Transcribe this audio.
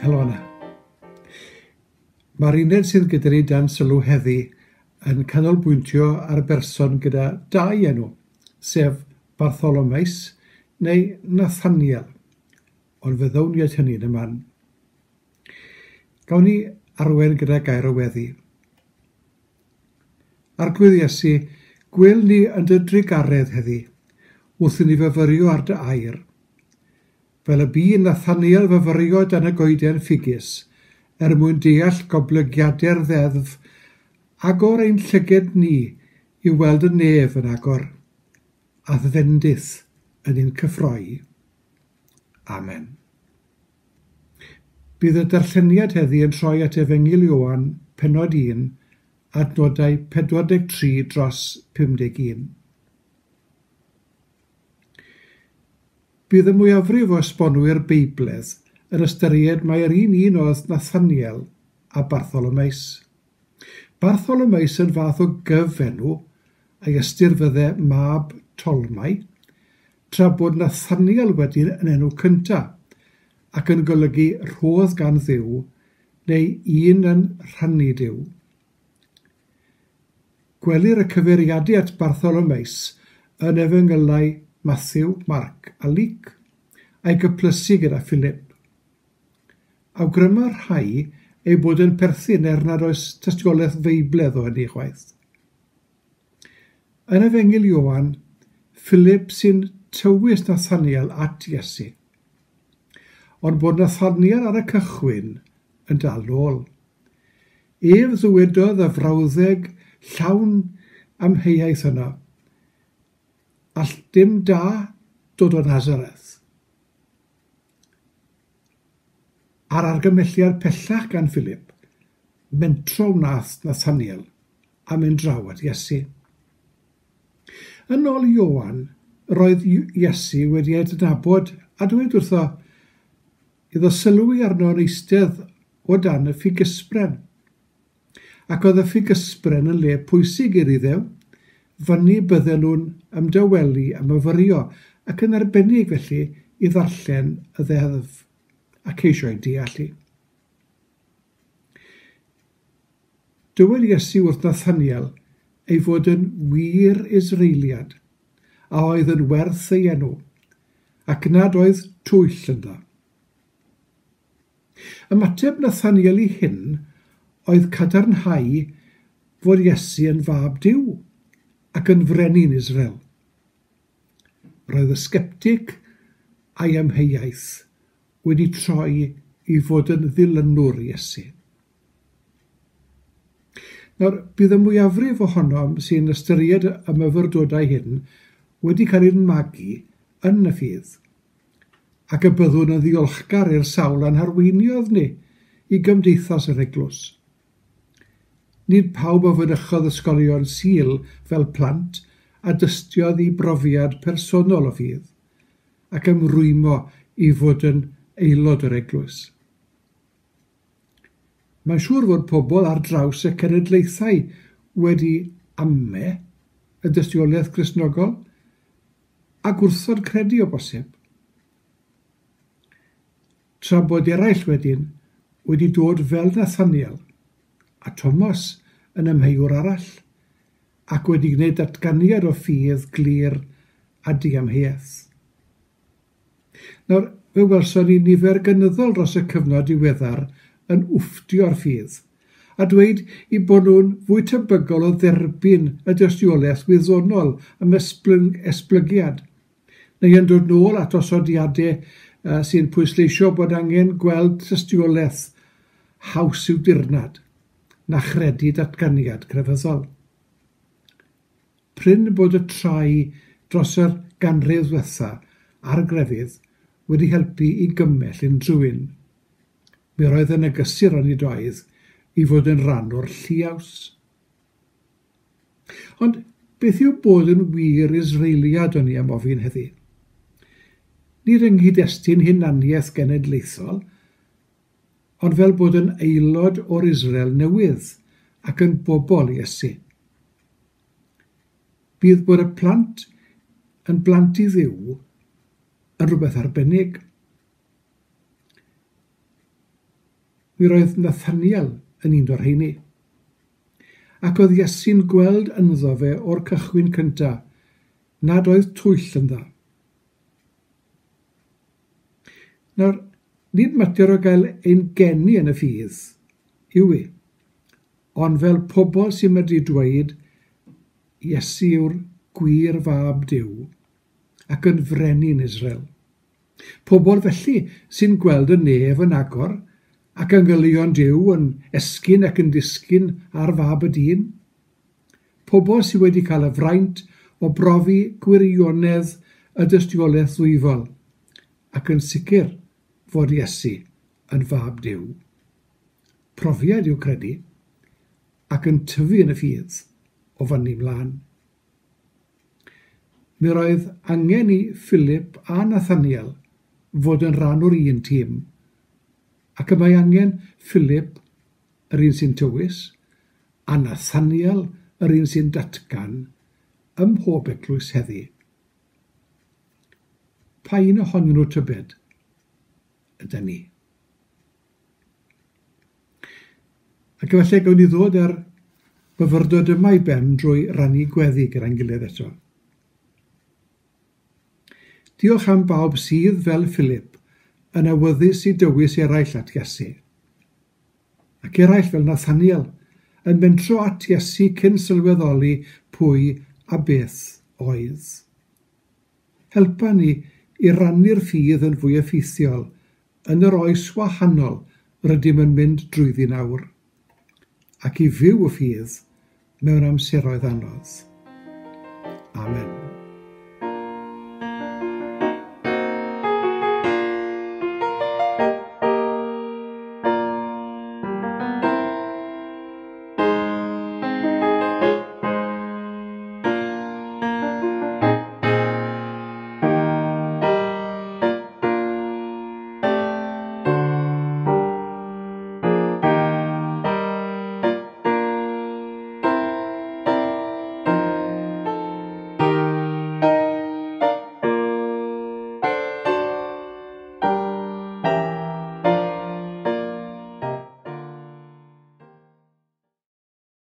Helo yna. Mae'r uned sydd gyda ni dan sylw heddi yn canolbwyntio ar berson gyda dau enw, sef Bartholomeus neu Nathaniel, ond fe ddown ni at hynny yn y man. Gawn ni arwen gyda gair o weddi. Arglwydd Iesu, gwel ni yn dy drugaredd heddi, wrth i ni fyfyrio ar dy air. Fel y bu Nathaniel fyfyrio dan y goeden ffigys, er mwyn deall goblygiadau'r ddeddf, agor ein llyged ni i weld y nef yn agor, a'th fendith yn ein cyffroi. Amen. Bydd y darlleniad heddi yn troi at Efengyl Ioan, pennod 1, adnodau 43 dros 51. Bydd y mwyafrif o esbonwyr Beibledd yn ystyried mai'r un un oedd Nathaniel a Bartholomeus. Bartholomeus yn fath o gyfenw, a'i ystyr fydde mab Tolmai, tra bod Nathaniel wedyn yn enw cynta, ac yn golygu rhodd gan Dduw, neu un yn rhannu Duw. Gwelir y cyfeiriadu at Bartholomeus yn Efengylau Mathew, Marc a Luc, a'i gyplysu gyda Philip. Awgryma rhai ei bod yn perthyn er nad oes tystiolaeth Feibledd o hynny chwaith. Yn Efengyl Ioan, Philip sy'n tywys Nathaniel at Iesu. Ond bod Nathaniel ar y cychwyn yn dal nôl. Ef ddywedodd y frawddeg llawn amheuaeth yno, All dim da dod o Nazareth. Ar argymhelliad pellach gan Philip, mentro wnaeth Nathaniel a mynd draw at Iesu. Yn ôl Ioan, roedd Iesu wedi ei adnabod a dweud wrtho, iddo sylwi arno yn eistedd o dan y ffigysbren. Ac oedd y ffigysbren yn le pwysig i'r Iddew, fyny bydden nhw'n ymdawelu a myfyrio, ac yn arbennig felly i ddarllen y ddeddf a ceisio ei deall hi. Dywed Iesu wrth Nathaniel ei fod yn wir Israeliad a oedd yn werth ei enw, ac nad oedd twyll ynddo. Ymateb Nathaniel i hyn oedd cadarnhau fod Iesu yn fab Duw ac yn frenin Israel. Roedd y sgeptig a'i amheuaeth wedi troi i fod yn ddilynwr Iesu. Nawr, bydd y mwyafrif ohonom sy'n ystyried y myfyrdodau hyn wedi cael ein magu yn y ffydd, ac y byddwn yn ddiolchgar i'r sawl a'n harweiniodd ni i gymdeithas yr eglwys. Nid pawb a fynychodd ysgolion Sul fel plant a dystiodd i brofiad personol o ffydd, ac ymrwymo i fod yn aelod o'r eglwys. Mae'n siŵr fod pobl ar draws y cenedlaethau wedi ame y dystiolaeth Gristnogol a gwrthod credu o bosib. Tra bod eraill wedyn wedi dod fel Nathaniel a Thomas yn amheuwr arall ac wedi gwneud datganiad o ffydd glir a diamheuaeth. Nawr, fe welson ni nifer gynyddol dros y cyfnod diweddar yn wfftio'r ffydd, a dweud eu bod nhw'n fwy tebygol o dderbyn y dystiolaeth wyddonol am esblygiad, neu yn dod nôl at osodiadau sy'n pwysleisio bod angen gweld tystiolaeth haws i'w dirnad na chredu datganiad crefyddol. Prin bod y trai dros yr ganrif ddwetha ar grefydd wedi helpu i gymell unrhyw un. Mi roedd yna gysur onid oedd i fod yn rhan o'r lliaws. Ond beth yw bod yn wir Israeliad o'n i am ofyn heddi? Nid yng nghyd-destun hunaniaeth genedlaethol, ond fel bod yn aelod o'r Israel newydd ac yn bobl Iesu. Bydd bod y plant yn blant i Dduw yn rhywbeth arbennig. Mi roedd Nathaniel yn un o'r rheini. Ac oedd Iesu'n gweld ynddo fe o'r cychwyn cyntaf nad oedd twyll ynddo. Nawr, nid mater o gael ein geni yn y ffydd yw i, ond fel pobl sy'n medru dweud Iesu yw'r gwir fab Duw ac yn frenin Israel. Pobl felly sy'n gweld y nef yn agor ac angylion Duw yn esgyn ac yn disgyn ar fab y dyn. Pobl sydd wedi cael y fraint o brofi gwirionedd y dystiolaeth ddwyfol ac yn sicr fod Iesu yn fab Duw. Profiad yw credu ac yn tyfu yn y ffydd o fyny mlaen. Mi roedd angen i Philip a Nathaniel fod yn rhan o'r un tîm, ac y mae angen Philip, yr un sy'n tywys, a Nathaniel, yr un sy'n datgan, ym mhob eglwys heddi. Pa un ohonyn nhw tybed ydy ni? Ac efallai gawn ni ddod â'r myfyrdod yma i ben drwy rannu gweddi gyda'n gilydd eto. Diolch am bawb sydd, fel Philip, yn awyddus i dywys eraill at Iesu. Ac eraill fel Nathaniel, yn mentro at Iesu cyn sylweddoli pwy a beth oedd. Helpa ni i rannu'r ffydd yn fwy effeithiol yn yr oes wahanol rydym yn mynd drwyddi nawr, ac i fyw y ffydd mewn amseroedd anodd. Amen.